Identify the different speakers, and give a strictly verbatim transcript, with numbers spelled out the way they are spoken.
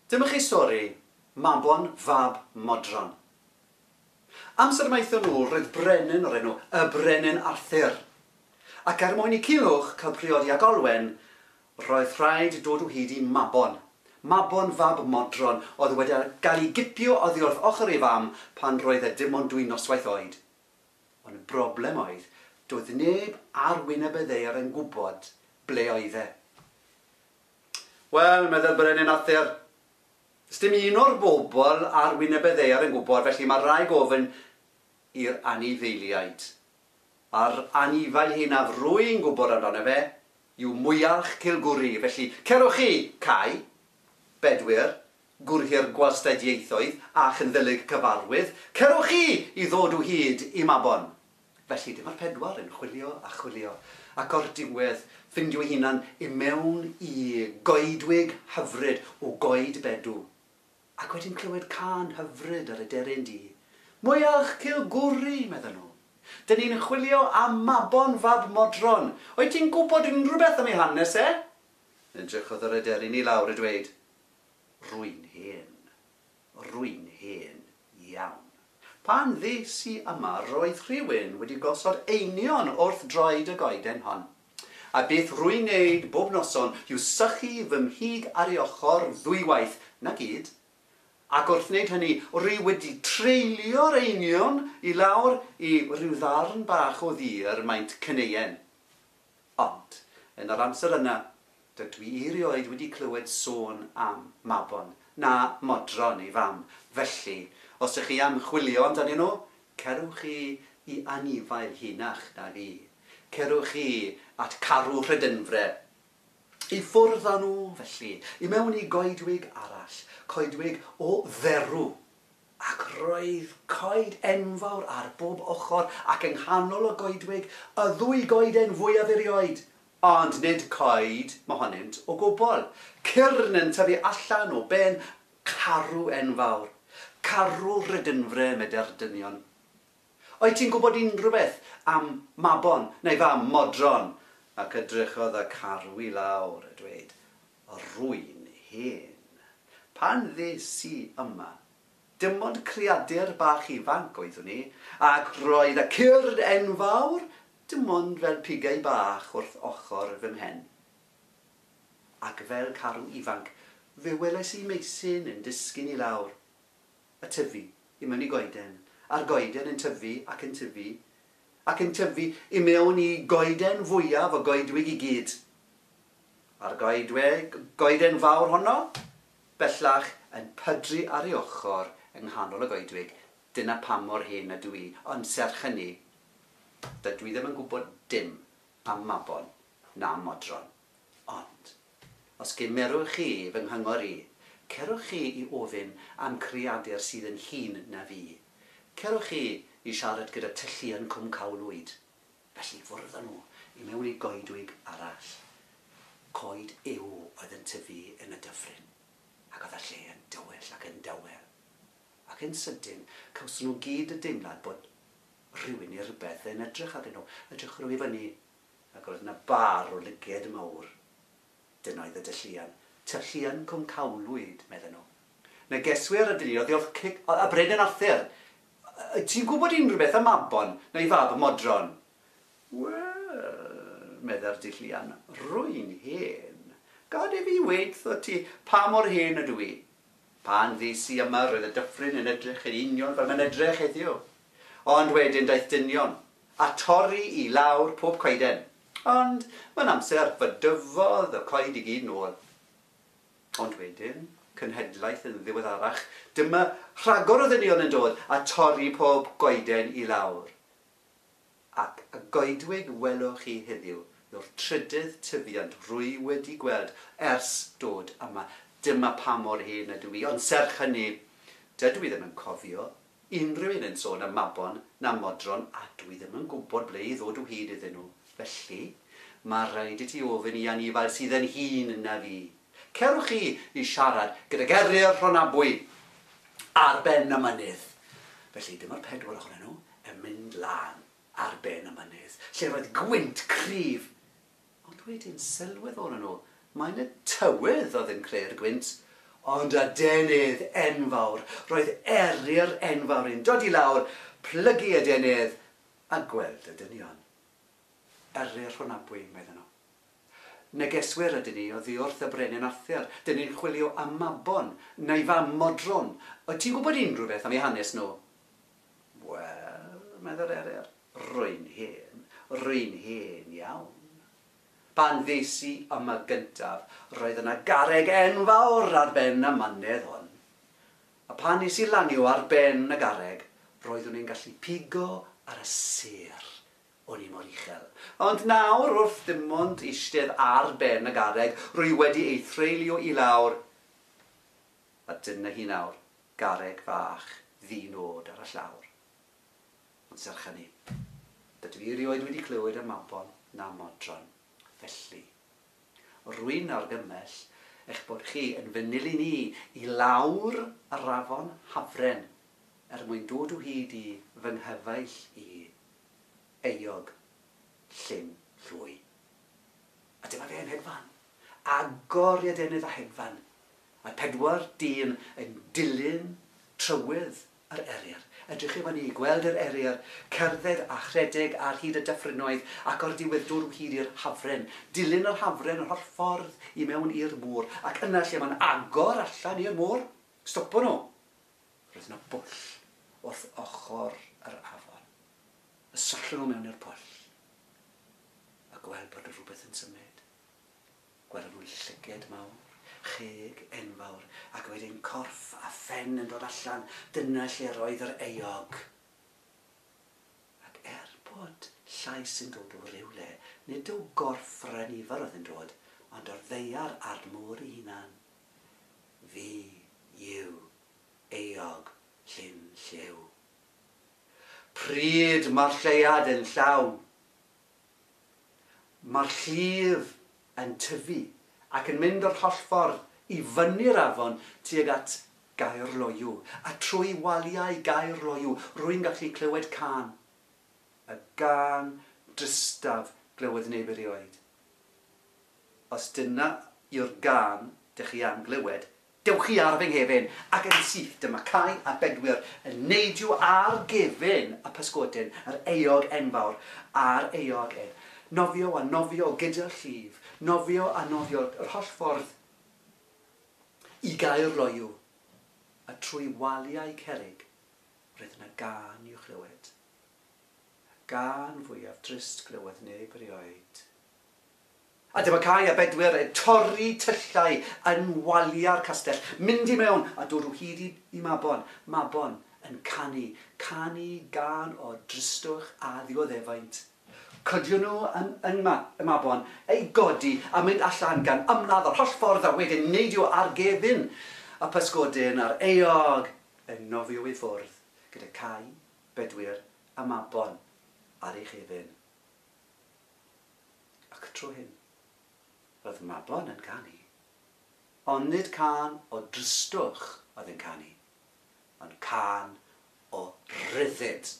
Speaker 1: Dyma chi stori Mabon fab Modron. Amser maith yn ôl roedd brenin o'r enw y Brenin Arthur. Ac er mwyn i Culhwch cael priodi ag Olwen, roedd rhaid dod o hyd i Mabon. Mabon fab Modron oedd wedi gael ei gipio oddi wrth ochr ei fam pan roedd e dim ond dwy noswaith oed. Ond y broblem oedd, doedd neb ar wyneb y ddaear yn gwybod ble oedd e. Wel, meddai'r Brenin Arthur, 'sdim un o'r bobl ar wyneb y ddaear yn gwybod, felly mae rhaid gofyn i'r anifeiliaid. A'r anifail hynaf rwy'n gwybod amdano fe yw mwyalch Cilgwri. Felly, cerwch chi, Cai, Bedwyr, Gwrhyr Gwastadieithoedd a Chynddylig Cyfarwydd, cerwch chi i ddod o hyd i Mabon. Felly, dyma'r pedwar yn chwilio a chwilio, ac o'r diwedd ffindio eu hunan i mewn i goedwig hyfryd o goed bedw. Ac wedyn clywed cân hyfryd ar y deryn du. Mwyalch Cilgwri, medden nhw. Dyn ni'n chwilio am Mabon fab Modron. Wyt ti'n gwybod unrhyw beth am ei hanes e? Edrychodd yr aderyn i lawr a dweud, rwy'n hen, rwy'n hen iawn. Pan ddes i yma, roedd rhywun wedi gosod einioes wrth droed y goeden hon. A beth rwy'n neud bob noson yw sychu fy mhig ar ei ochr ddwywaith, na gyd. Ac wrth wneud hynny, rwy wedi treulio'r einioes i lawr i ryw ddarn bach o ddur maint cyneuen. Ond, yn yr amser yna, dydw i erioed wedi clywed sôn am Mabon, na Modron ei fam. Felly, os ydych chi am chwilio amdanyn nhw, cerwch chi i anifail hynach na fi. Cerwch chi at Carw Rhydynfre. I ffwrdd â nhw, felly, i mewn i goedwig arall, coedwig o dderw. Ac roedd coed enfawr ar bob ochr ac yng nghanol y goedwig y ddwy goeden fwyaf erioed. Ond nid coed mohonynt o gwbl. Cyrn yn tyfu allan o ben carw enfawr. Carw Rhydynfre, meddai'r dynion. Wyt ti'n gwybod unrhyw beth am Mabon neu fam Modron? Ac edrychodd y carw i lawr a dweud, rwy'n hen. Pan ddes i yma, dim ond creadur bach ifanc oeddwn i, ac roedd y cyrn enfawr dim ond fel pigau bach wrth ochr fy mhen. Ac fel carw ifanc, fe welais i meisyn yn disgyn i lawr, a tyfu i mewn i goeden, a'r goeden yn tyfu ac yn tyfu, ac yn tyfu i mewn i goeden fwyaf o goedwig i gyd. A'r goedwig, goeden fawr honno, bellach yn pydru ar ei ochr yng nghanol y goedwig. Dyna pam mor hen ydw i, ond serch hynny, dydw i ddim yn gwybod dim am Mabon na Modron. Ond, os gymerwch chi fy nghyngor i, cerwch chi i ofyn am creadur sydd yn hŷn na fi. Cerwch chi i siarad gyda Tylluan Cwm Cawlwyd. Felly ffwrdd â nhw i mewn i goedwig arall. Coed yw oedd yn tyfu yn y dyffryn. Ac oedd y lle yn dywyll ac yn dawel. Ac yn sydyn, cawson nhw gyd y deimlad bod rhywun neu rhywbeth yn edrych arnyn nhw, edrych nhw i fyny, ac roedd yna bar o lyged mawr. Dyna oedd y dylluan. Tylluan Cwm Cawlwyd, medden nhw. Negeswyr ydyn ni, oedd wrth y Brenin Arthur. Ti'n gwybod unrhyw beth am Mabon neu fab Modron? Wel, meddai'r dylluan, rwy'n hen. Gad i fi weud ti pa mor hen ydw i. Pan ddes i yma, roedd y dyffryn yn edrych yn union fel mae'n edrych heddiw. Ond wedyn daeth dynion a torri i lawr pob coeden. Ond mewn amser fe dyfodd y coed i gyd nôl. Ond wedyn, cenhedlaeth yn ddiweddarach, dyma rhagor o ddynion yn dod a torri pob goeden i lawr. Ac y goedwig welwch chi heddiw yw'r trydydd tyfiant rwy wedi gweld ers dod yma. Dyma pa mor hen ydw i, ond serch hynny, dydw i ddim yn cofio unrhyw un yn sôn am Mabon na Modron, a dwi ddim yn gwybod ble i ddod o hyd iddyn nhw. Felly, mae rhaid i ti ofyn i anifail sydd yn hŷn na fi. Cerwch chi i siarad gyda Eryr Rhonabwy ar ben y mynydd. Felly dyma'r pedwar ohonyn nhw yn mynd lan ar ben y mynydd, lle roedd gwynt cryf. Ond wedyn sylweddolon nhw, mae'n y tywydd oedd yn creu'r gwynt, Ond adenydd enfawr, roedd eryr enfawr yn dod i lawr, plygu adenydd a gweld y dynion. Eryr Rhonabwy, meddyn nhw. Negeswyr ydyn ni oddi wrth y brenin Arthur. Dyn ni'n chwilio am Mabon, neu fam Modron. Wyt ti'n gwybod unrhyw beth am eu hanes nhw? Wel, meddai'r eryr, rwy'n hen, rwy'n hen iawn. Pan ddes i yma gyntaf, roedd yna garreg enfawr ar ben y mynedd hwn. A pan nes i lanio ar ben y garreg, roeddwn i'n gallu pigo ar y sêr. O'n i mor uchel. Ond nawr, wrth dim ond eistedd ar ben y garreg, rwy wedi ei threulio i lawr. A dyna hi nawr, garreg fach ddi-nod ar y llawr. Ond serch hynny, dydw i erioed wedi clywed am Mabon na Modron. Felly, rwy'n argymell eich bod chi yn fy nilyn i i lawr yr afon Hafren er mwyn dod o hyd i fy nghyfaill i, Eog Llyn Llwy. A dyma fe yn hedfan. Agor ei adenydd a hedfan. Mae pedwar dyn yn dilyn trywydd yr eryr. Edrych i fyny, gweld yr eryr, cerdded a chredeg ar hyd y dyffrynnoedd ac o'r diwedd dod o hyd i'r Hafren. Dilyn yr Hafren yr holl ffordd i mewn i'r môr. Ac yna lle mae'n agor allan i'r môr, stopo nhw. Roedd yna bwll wrth ochr yr afon. Y sallon nhw mewn i'r pwll. A gweld bod rhywbeth yn symud. Gweld nhw'n llyged mawr, cheg enfawr, ac wedyn corff a phen yn dod allan. Dyna lle roedd yr eog. Ac er bod llais yn dod o rywle, nid o gorff yr anifail oedd yn dod, ond o'r ddaear a'r môr ei hunan. Fi yw Eog Llyn Lliw. Pryd mae'r lleuad yn llawn, mae'r llif yn tyfu ac yn mynd o'r holl ffordd i fyny'r afon tuag at Gaerloyw. A trwy waliau Gaerloyw, rwy'n gallu clywed cân. Y gân dristaf glywodd neb erioed. Os dyna yw'r gân dych chi am glywed, dewch chi ar fy nghefn, ac yn syth dyma Cai a Bedwyr yn neidio ar gefn y pysgodyn, yr eog enfawr, a'r eog en. Nofio a nofio gyda'r llif, nofio a nofio yr holl ffordd i Gaerloyw, a trwy waliau cerrig, roedd yna gân i'w chlywed. Gân fwyaf drist glywodd neb erioed. A dyma Cai a Bedwyr yn torri tyllau yn waliau'r castell, mynd i mewn a dod o hyd i, i Mabon. Mabon yn canu, canu gân o dristwch a ddioddefaint. Cydio nhw yn, yn ma, y Mabon, ei godi a mynd allan gan ymladd o'r holl ffordd a wedyn neidio ar gefn y pysgodyn a'r eog yn nofio i ffwrdd gyda Cai, Bedwyr a Mabon ar ei chefn. Ac tro hyn, roedd Mabon yn canu, ond nid cân o dristwch oedd yn canu, ond cân o ryddid.